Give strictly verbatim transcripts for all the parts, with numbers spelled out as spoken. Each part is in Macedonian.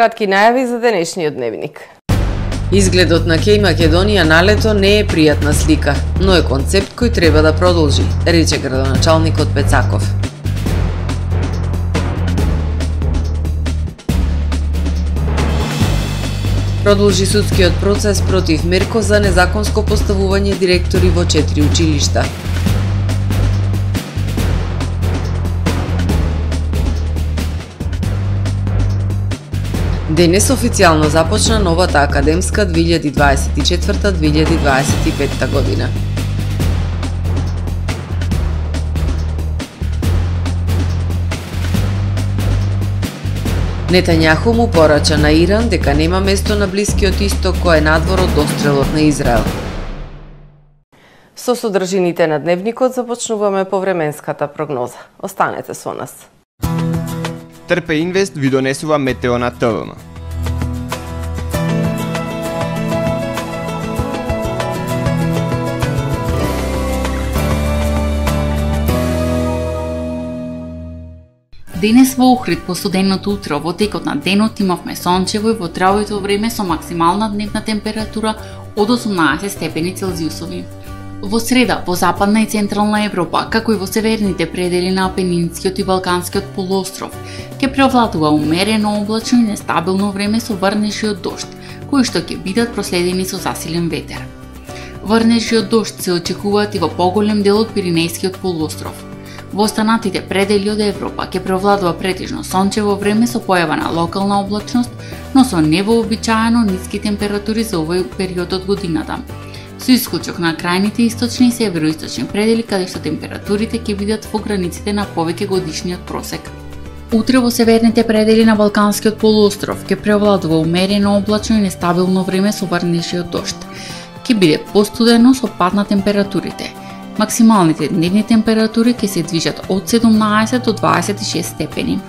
Кратки најави за денешниот дневник. Изгледот на Кеј Македонија на лето не е пријатна слика, но е концепт кој треба да продолжи, рече градоначалникот Пецаков. Продолжи судскиот процес против Мерко за незаконско поставување директори во четири училишта. Денес официјално започна новата академска две илјади дваесет и четврта две илјади дваесет и петта година. Нетањаху му порача на Иран дека нема место на Блискиот исток кој е надвор од дострелот на Израел. Со содржините на дневникот започнуваме повременската прогноза. Останете со нас. Трпе Инвест ви донесува метео на ТВМ. Денес во Охрид по студеното утро во текот на денот имавме сончево и ветровито време со максимална дневна температура од осумнаесет степени Целзиусови. Во среда, во западна и централна Европа, како и во северните предели на Апенинскиот и Балканскиот полуостров, ќе преовладува умерено облачно и нестабилно време со врнежи од дожд, кои што ќе бидат проследени со засилен ветер. Врнежи од дожд се очекуваат и во поголем дел од Пиринејскиот полуостров. Во останатите предели од Европа ќе преовладува претежно сончево време со појава на локална облачност, но со невообичаено ниски температури за овој период од годината, со исклучок на крајните источни и североисточни предели каде што температурите ќе бидат во границите на повеќе годишниот просек. Утре во северните предели на Балканскиот полуостров ќе преовладува умерено облачно и нестабилно време со врнежи од дожд. Ќе биде постудено со пад на температурите. Максималните дневни температури ќе се движат од седумнаесет до дваесет и шест степени.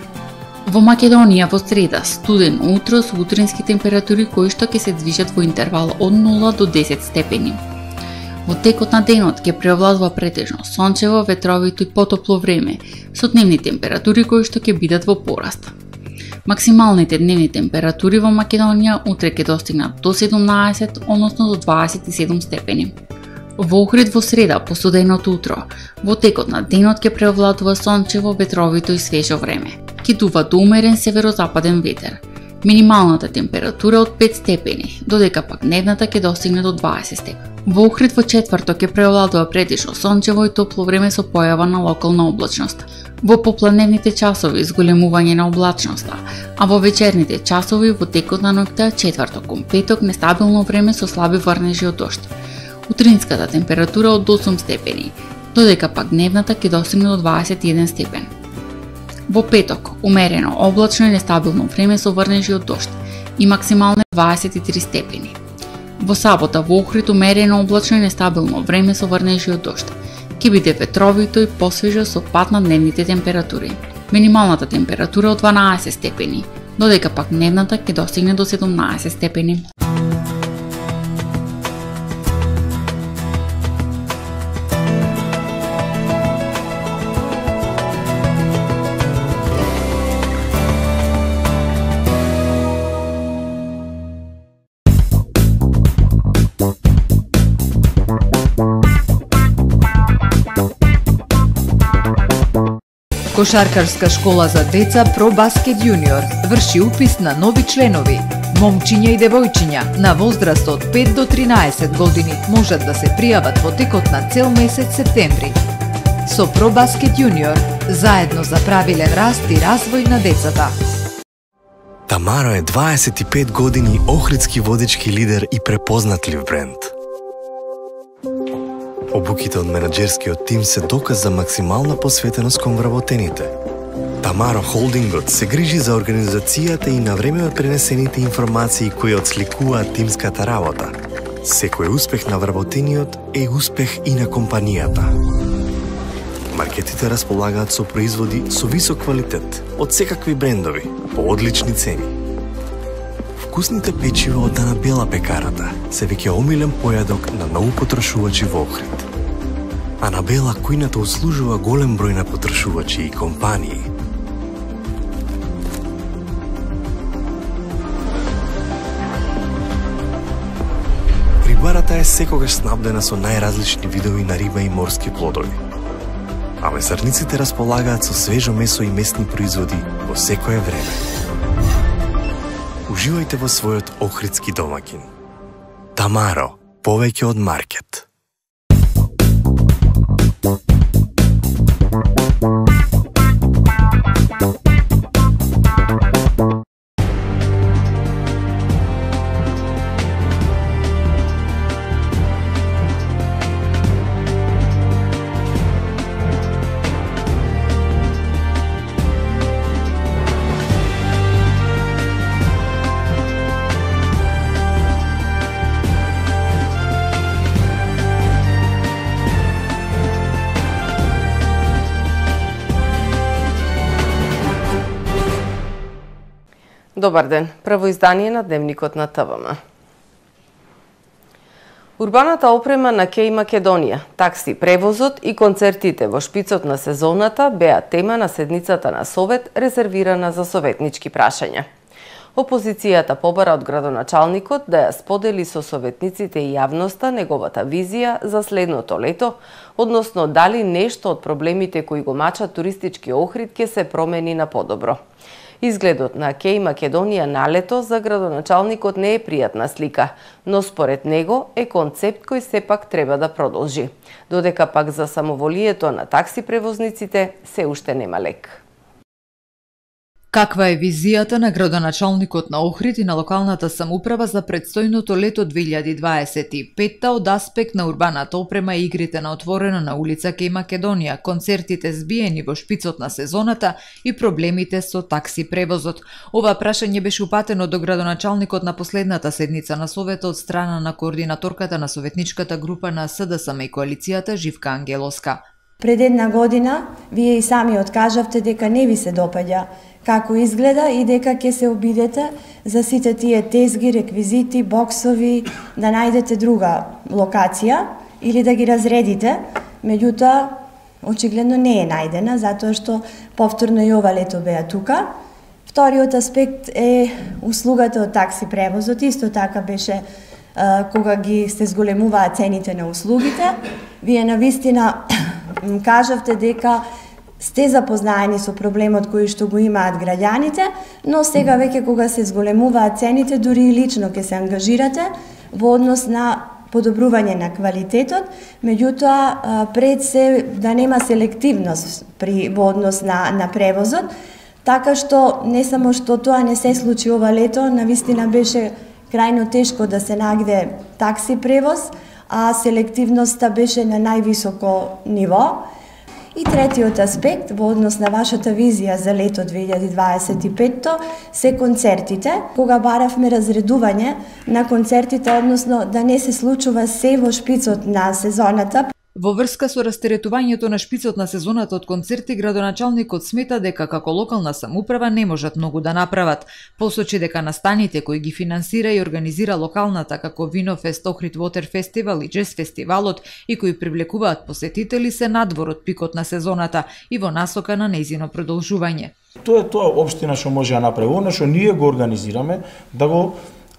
Во Македонија во среда студен утро со утрински температури кои што ќе се движат во интервал од нула до десет степени. Во текот на денот ќе преовладува претежно сончево, ветровито и потопло време со дневни температури кои што ќе бидат во пораст. Максималните дневни температури во Македонија утре ќе достигнат до седумнаесет, односно до дваесет и седум степени. Во Охрид во среда по студеното утро, во текот на денот ќе преовладува сончево, ветровито и свежо време. Ќе дува до умерен северозападен ветер. Минималната температура од пет степени, додека пак дневната ќе достигне до дваесет степени. Во Охрид во четврток ќе преовладува претежно сончево и топло време со појава на локална облачност. Во попладневните часови зголемување на облачноста, а во вечерните часови во текот на ноќта четврток кон петок нестабилно време со слаби врнежи од дожд. Утринската температура од осум степени, додека пак дневната ќе достигне до дваесет и еден степен. Во петок, умерено, облачно и нестабилно време со врнежи од дожд и максимално дваесет и три степени. Во сабота во Охрид умерено, облачно и нестабилно време со врнежи од дожд. Ќе биде ветровито и посвежо со пад на дневните температури. Минималната температура од дванаесет степени, додека пак дневната ќе достигне до седумнаесет степени. Кошаркарска школа за деца ProBasket Junior врши упис на нови членови. Момчиња и девојчиња на возраст од пет до тринаесет години можат да се пријават во текот на цел месец септември. Со ProBasket Junior заедно за правилен раст и развој на децата. Тамаро е дваесет и пет години охридски водички лидер и препознатлив бренд. Обуките од менаџерскиот тим се доказ за максимална посветеност кон вработените. Тамаро Холдингот се грижи за организацијата и на време пренесените информации кои отсликуваат тимската работа. Секој успех на вработениот е успех и на компанијата. Маркетите располагаат со производи со висок квалитет од секакви брендови по одлични цени. Вкусните печива од Анабела пекарата се веќе омилен појадок на многу потрошувачи во Охрид. Анабела кујната услужува голем број на потрошувачи и компании. Рибарата е секогаш снабдена со најразлични видови на риба и морски плодови. А месарниците располагаат со свежо месо и месни производи во секое време. Уживајте во својот охридски домаќин. Тамаро, повеќе од маркет. Добар ден, прво издание на Дневникот на ТВМ. Урбаната опрема на Кеј Македонија, такси превозот и концертите во шпицот на сезоната беа тема на седницата на Совет, резервирана за советнички прашања. Опозицијата побара од градоначалникот да ја сподели со советниците и јавноста неговата визија за следното лето, односно дали нешто од проблемите кои го мачат туристички Охрид ќе се промени на подобро. Изгледот на Кеј Македонија на лето за градоначалникот не е пријатна слика, но според него е концепт кој сепак треба да продолжи, додека пак за самоволието на такси превозниците се уште нема лек. Каква е визијата на градоначалникот на Охрид и на локалната самоуправа за предстојното лето две илјади дваесет и петта од аспект на урбаната опрема и игрите на отворено на улица Кеј Македонија, концертите збиени во шпицот на сезоната и проблемите со такси превозот? Ова прашање беше упатено до градоначалникот на последната седница на Советот од страна на координаторката на советничката група на СДСМ и коалицијата Живка Ангелоска. Пред една година вие и сами откажавте дека не ви се допаѓа како изгледа и дека ќе се обидете за сите тие тезги, реквизити, боксови, да најдете друга локација или да ги разредите. Меѓутоа, очигледно не е најдена, затоа што повторно и ова лето беа тука. Вториот аспект е услугата од такси превозот. Исто така беше а, кога ги се зголемуваат цените на услугите. Вие навистина кажавте дека сте запознаени со проблемот кој што го имаат граѓаните, но сега веќе кога се зголемуваат цените, дури и лично ќе се ангажирате во однос на подобрување на квалитетот, меѓутоа пред се да нема селективност при во однос на на превозот, така што не само што тоа не се случи ова лето, навистина беше крајно тешко да се најде такси превоз, а селективноста беше на највисоко ниво. И третиот аспект во однос на вашата визија за лето две илјади дваесет и петта се концертите, кога баравме разредување на концертите, односно да не се случува се во шпицот на сезоната. Во врска со растеретувањето на шпицот на сезоната од концерти, градоначалникот смета дека како локална самоуправа не можат многу да направат. Посочи дека настаните кои ги финансира и организира локалната како Винофест, Охрид Water Festival и Джез фестивалот и кои привлекуваат посетители се надвор од пикот на сезоната и во насока на нејзино продолжување. Тоа е тоа општина што може да направи, она што ние го организираме, да го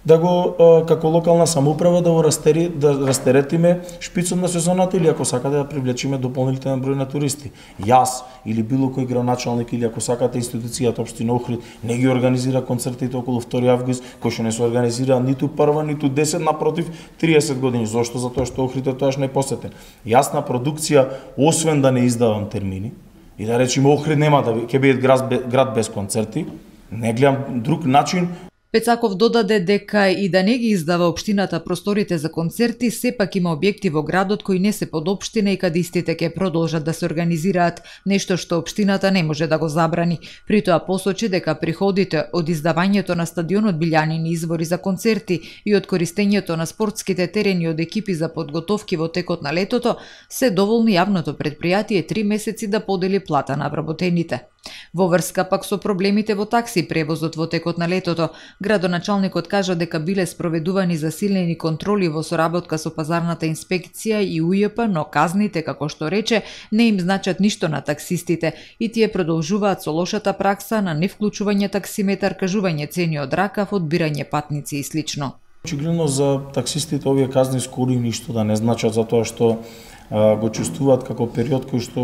да го како локална самоуправа да го растери, да растеретиме шпицот на сезоната или ако сакате да привлечиме дополнителен број на туристи. Јас или било кој градоначалник или ако сакате институцијата општина Охрид не ги организира концертите околу втори август, кои што не се организира ниту прва, ниту десет, напротив триесет години. Зошто? Затоа што Охрид е тоаш непосетен. Јас на продукција, освен да не издавам термини и да речеме Охрид нема да ќе биде град, град без концерти, не гледам друг начин. Пецаков додаде дека и да не ги издава општината просторите за концерти, сепак има објекти во градот кои не се под општина и каде истите ќе продолжат да се организираат, нешто што општината не може да го забрани. При тоа посочи дека приходите од издавањето на стадионот Билјанини извори за концерти и од користењето на спортските терени од екипи за подготовки во текот на летото се доволни јавното предпријатие три месеци да подели плата на вработените. Во врска пак со проблемите во такси превозот во текот на летото, градоначалникот кажа дека биле спроведувани засилени контроли во соработка со пазарната инспекција и У Ј П, но казните, како што рече, не им значат ништо на таксистите и тие продолжуваат со лошата пракса на невклучување таксиметар, кажување цени од ракав, одбирање патници и слично. Очигледно за таксистите овие казни скоро и ништо да не значат, затоа што а, го чувствуваат како период кој што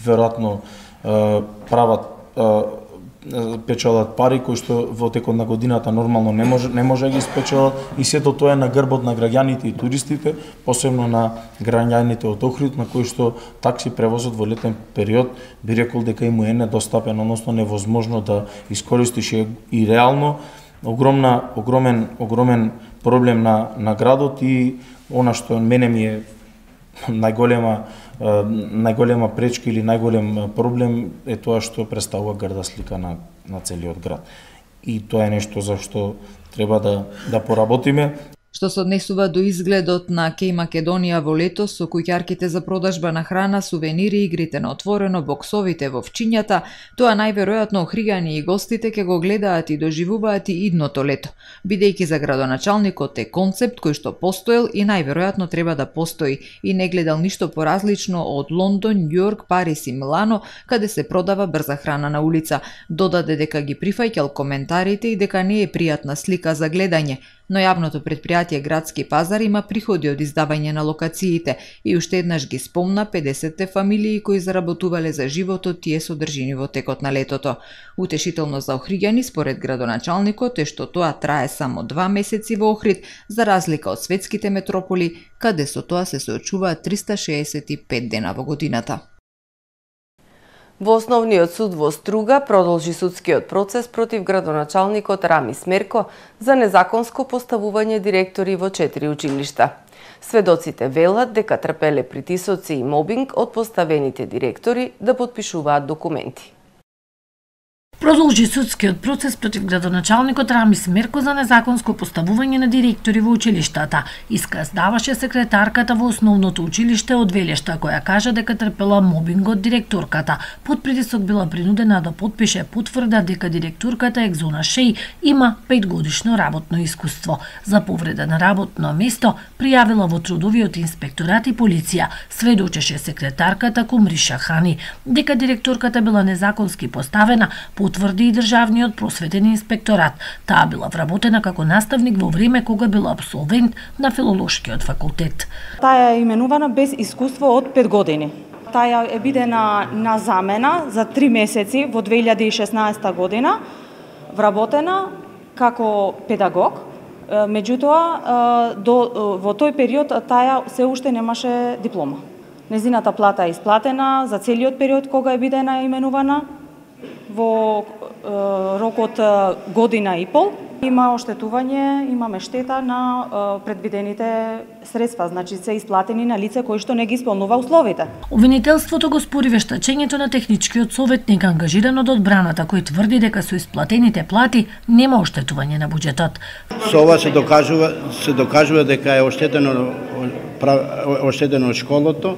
веројатно прават а, печалат пари кои што во текот на годината нормално не може не може да ги спечелат, и сето тоа е на грбот на граѓаните и туристите, посебно на граѓаните од Охрид, на кои што такси превозот во летен период би рекол дека им е недостапен, односно невозможно да искористиш, и реално огромна огромен огромен проблем на на градот. И она што мене ми е најголема најголема пречка или најголем проблем е тоа што представува грда слика на на целиот град. И тоа е нешто за што треба да да поработиме. Што се однесува до изгледот на Кеј Македонија во лето, со куќарките за продажба на храна, сувенири, игрите на отворено, боксовите во овчињата, тоа најверојатно охријани и гостите ќе го гледаат и доживуваат и идното лето, бидејќи за градоначалникот е концепт кој што постоел и најверојатно треба да постои, и не гледал ништо поразлично од Лондон, Њујорк, Париз и Милано, каде се продава брза храна на улица. Додаде дека ги прифаќал коментарите и дека не е пријатна слика за гледање, но јавното предпријатие Градски пазар има приходи од издавање на локациите и уште еднаш ги спомна педесетте фамилии кои заработувале за животот тие содржини во текот на летото. Утешително за охриѓани според градоначалникот е што тоа трае само два месеци во Охрид, за разлика од светските метрополи, каде со тоа се соочуваат триста шеесет и пет дена во годината. Во Основниот суд во Струга продолжи судскиот процес против градоначалникот Рамис Мерко за незаконско поставување директори во четири училишта. Сведоците велат дека трпеле притисоци и мобинг од поставените директори да подпишуваат документи. Продолжи судскиот процес против градоначалникот Рамис Мерко за незаконско поставување на директори во училиштата. Исказ даваше секретарката во Основното училиште од Велешта, која кажа дека трпела мобинг од директорката. Под притисок била принудена да подпише потврда дека директорката Екзона Шеј има петгодишно работно искуство. За повреда на работно место пријавила во трудовиот инспекторат и полиција. Сведочеше секретарката Кумриша Хани дека директорката била незаконски поставена, потврди и Државниот просветен инспекторат. Таа била вработена како наставник во време кога била абсолвент на Филолошкиот факултет. Таа е именувана без искуство од пет години. Таа е бидена на замена за три месеци во две илјади и шеснаесета година, вработена како педагог. Меѓутоа, до, во тој период таа се уште немаше диплома. Незината плата е исплатена за целиот период кога е бидена именувана, во е, рок од година и пол. Има оштетување, имаме штета на е, предвидените средства, значи се исплатени на лице кој што не ги исполнува условите. Обвинителството го спори вештачењето на техничкиот советник ангажиран од одбраната, кој тврди дека со исплатените плати нема оштетување на буџетот. Со ова се докажува се докажува дека е оштетено оштетено школото,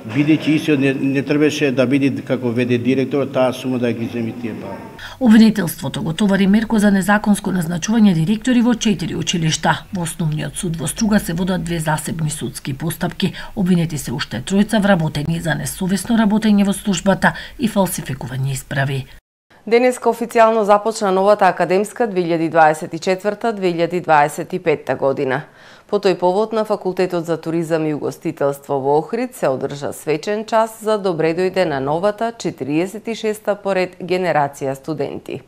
бидејќи истиот не, не требаше да биде како веде директор, таа сума да ги земи тие пари. Обвинителството го товари Мерко за незаконско назначување директори во четири училишта. Во Основниот суд во Струга се водат две засебни судски постапки. Обвинети се уште тројца вработени за несовесно работење во службата и фалсификување исправи. Денеска официјално започна новата академска две илјади дваесет и четврта две илјади дваесет и петта година. По тој повод на Факултетот за туризам и угостителство во Охрид се одржа свечен час за добре дојде на новата четириесет и шеста поред генерација студенти.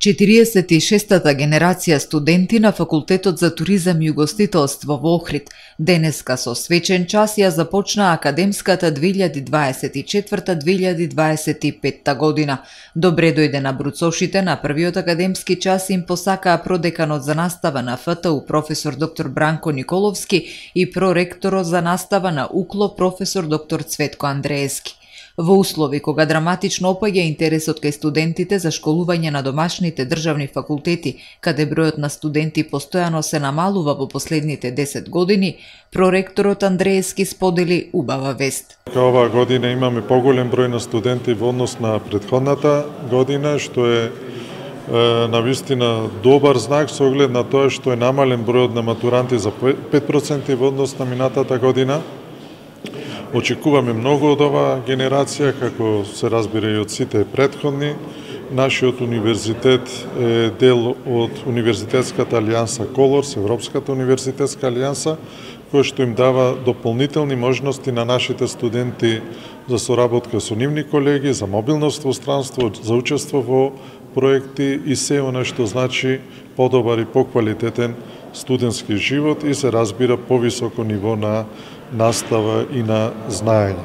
четириесет и шестата генерација студенти на Факултетот за туризам и угостителство во Охрид денеска со свечен час ја започна академската две илјади дваесет и четврта две илјади дваесет и петта година. Добре дојде на бруцошите на првиот академски час им посакаа продеканот за настава на ФТУ професор доктор Бранко Николовски и проректорот за настава на УКЛО професор доктор Цветко Андреевски. Во услови кога драматично опаѓа интересот кај студентите за школување на домашните државни факултети, каде бројот на студенти постојано се намалува во последните десет години, проректорот Андреевски сподели убава вест. Оваа година имаме поголем број на студенти во однос на претходната година, што е, е навистина добар знак со оглед на тоа што е намален бројот на матуранти за пет проценти во однос на минатата година. Очекуваме многу од оваа генерација, како се разбира и од сите претходни нашиот универзитет е дел од Универзитетската алијанса Колорс, Европската универзитетска алијанса, кој што им дава дополнителни можности на нашите студенти за соработка со нивни колеги, за мобилност во странство, за учество во проекти и се она што значи подобар и поквалитетен студентски живот и се разбира повисоко ниво на настава и на знаење.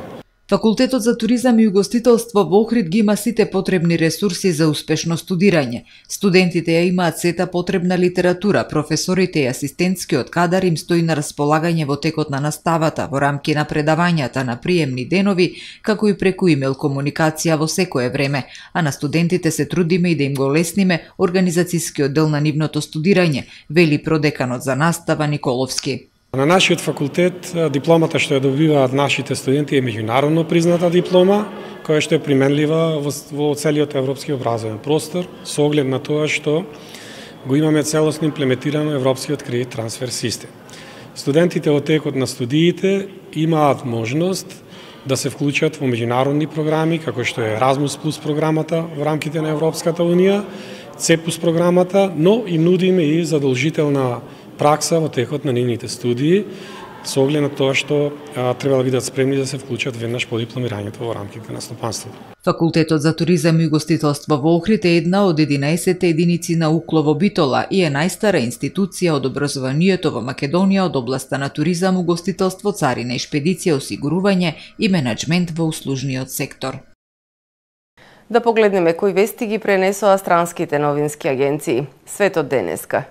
Факултетот за туризам и угостителство во Охрид ги има сите потребни ресурси за успешно студирање. Студентите ја имаат сета потребна литература, професорите и асистентскиот кадар им стои на располагање во текот на наставата, во рамки на предавањата на приемни денови, како и преку имейл комуникација во секое време, а на студентите се трудиме и да им го лесниме организацијскиот дел на нивното студирање, вели продеканот за настава Николовски. На нашиот факултет дипломата што ја добиваат нашите студенти е меѓународно призната диплома, која што е применлива во, во целиот европски образовен простор, со оглед на тоа што го имаме целосно имплементирано европскиот кредит трансфер систем. Студентите во текот на студиите имаат можност да се вклучат во меѓународни програми, како што е Erasmus Plus програмата во рамките на Европската унија, цепус програмата, но и нудиме и задолжителна пракса во текот на нивните студии, со оглед на тоа што а, треба да бидат спремни да се вклучат веднаш по дипломирањето во рамките на стопанството. Факултетот за туризам и угостителство во Охрид е една од единаесет единици на УКЛО во Битола и е најстара институција од образованието во Македонија од областа на туризам, угостителство, царина и шпедиција, осигурување и менаџмент во услужниот сектор. Да погледнеме кои вести ги пренесоа странските новински агенции. Светот денеска.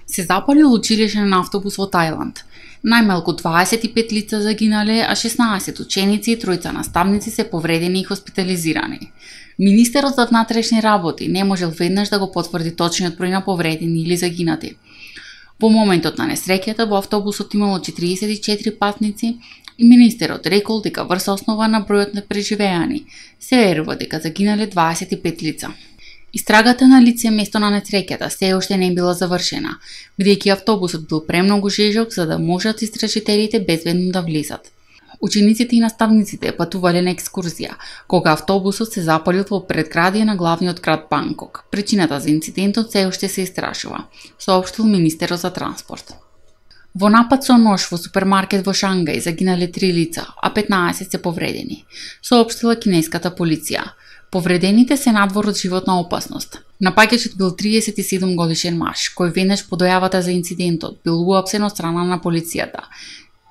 Се запалил училишен автобус во Тајланд. Најмалку дваесет и пет лица загинале, а шеснаесет ученици и тројца наставници се повредени и хоспитализирани. Министерот за внатрешни работи не можел веднаш да го потврди точниот број на повредени или загинати. Во моментот на несреќата во автобусот имало четириесет и четири патници и министерот рекол дека врз основа на бројот на преживеани се верува дека загинале дваесет и пет лица. Истрагата на лице место на несреќата се уште не била завршена, бидејќи автобусот бил премногу жежок за да можат истражителите безбедно да влезат. Учениците и наставниците патувале на екскурзија, кога автобусот се запалил во предградие на главниот град Банкок. Причината за инцидентот се уште се истражува, соопштил министерот за транспорт. Во напад со нож во супермаркет во Шангај загинале три лица, а петнаесет се повредени, соопштила кинеската полиција. Повредените се надвор од животна опасност. Напаѓачот бил триесет и седум годишен маж, кој веднаш по дојавата за инцидентот бил уапсен од страна на полицијата.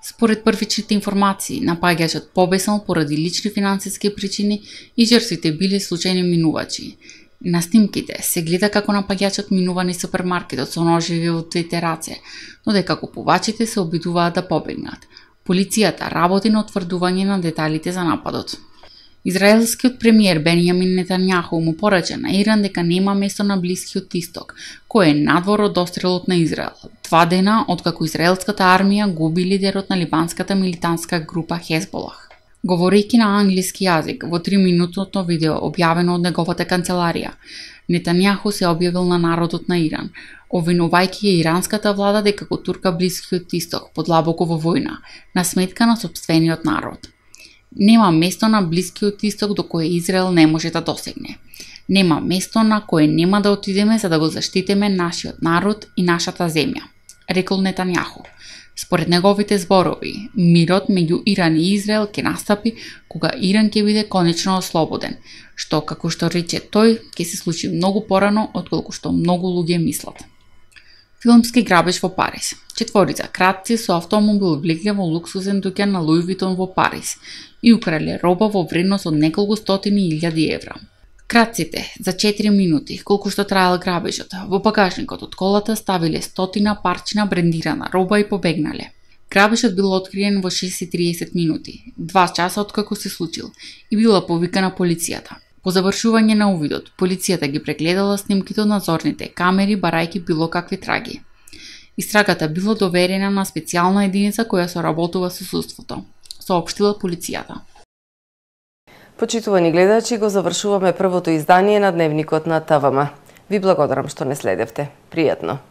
Според првичните информации, напаѓачот побеснал поради лични финансиски причини и жртвите биле случајни минувачи. На снимките се гледа како напаѓачот минува низ супермаркетот со ножеви во двете раце, но дека купувачите се обидуваат да побегнат. Полицијата работи на утврдување на деталите за нападот. Израелскиот премиер Бенјамин Нетањаху му порача на Иран дека нема место на Блискиот Исток, кој е надвор од дострелот на Израел. Два дена откако израелската армија губи лидерот на либанската милитантска група Хезболах. Говорејќи на англиски јазик во триминутното видео објавено од неговата канцеларија, Нетањаху се објавил на народот на Иран, обвинувајќи ја иранската влада дека го турка Блискиот Исток подлабоко во војна, на сметка на сопствениот народ. Нема место на Блискиот Исток до кое Израел не може да досегне. Нема место на кое нема да отидеме за да го заштитиме нашиот народ и нашата земја, рекол Нетањаху. Според неговите зборови, мирот меѓу Иран и Израел ќе настапи кога Иран ќе биде конечно ослободен, што, како што рече тој, ќе се случи многу порано отколку што многу луѓе мислат. Филмски грабеж во Париз. Четворица кратци со автомобил влегле во луксузен дуќан на Луи Витон во Париз и украле роба во вредност од неколку стотини илјади евра. Кратците за четири минути, колку што траел грабежот, во багажникот од колата ставиле стотина парчина брендирана роба и побегнале. Грабежот бил откриен во шест и триесет минути, два часа откако се случил, и била повикана полицијата. По завршување на увидот, полицијата ги прегледала снимките од надзорните камери, барајќи било какви траги. Истрагата била доверена на специјална единица која соработува со судството, соопштила полицијата. Почитувани гледачи, го завршуваме првото издание на Дневникот на ТВМ. Ви благодарам што не следевте. Пријатно!